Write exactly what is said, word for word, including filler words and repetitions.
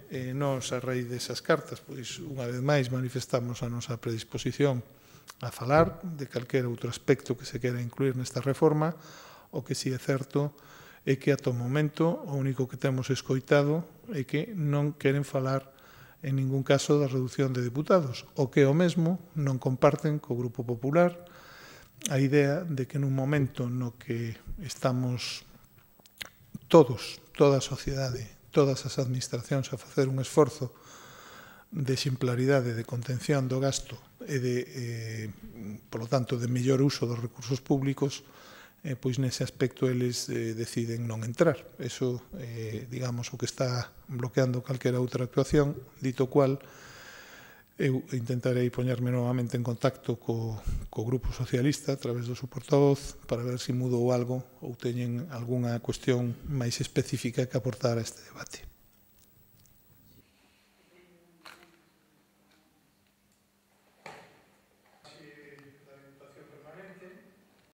eh, nós, a raíz desas cartas, pois, unha vez máis, manifestamos a nosa predisposición a falar de calquera outro aspecto que se quera incluir nesta reforma. O que si é certo é que, ata o momento, o único que temos escoitado é que non queren falar en ningún caso da reducción de deputados, o que o mesmo non comparten co Grupo Popular a idea de que nun momento no que estamos todos, toda a sociedade, todas as administracións a facer un esforzo de exemplaridade, de contención do gasto e de, eh, polo tanto, de mellor uso dos recursos públicos, eh, pois nese aspecto eles eh, deciden non entrar. Eso, eh, digamos, o que está bloqueando calquera outra actuación, dito cual, eu intentarei poñerme novamente en contacto co, co Grupo Socialista a través do seu portavoz para ver se mudou algo ou teñen algunha cuestión máis específica que aportar a este debate.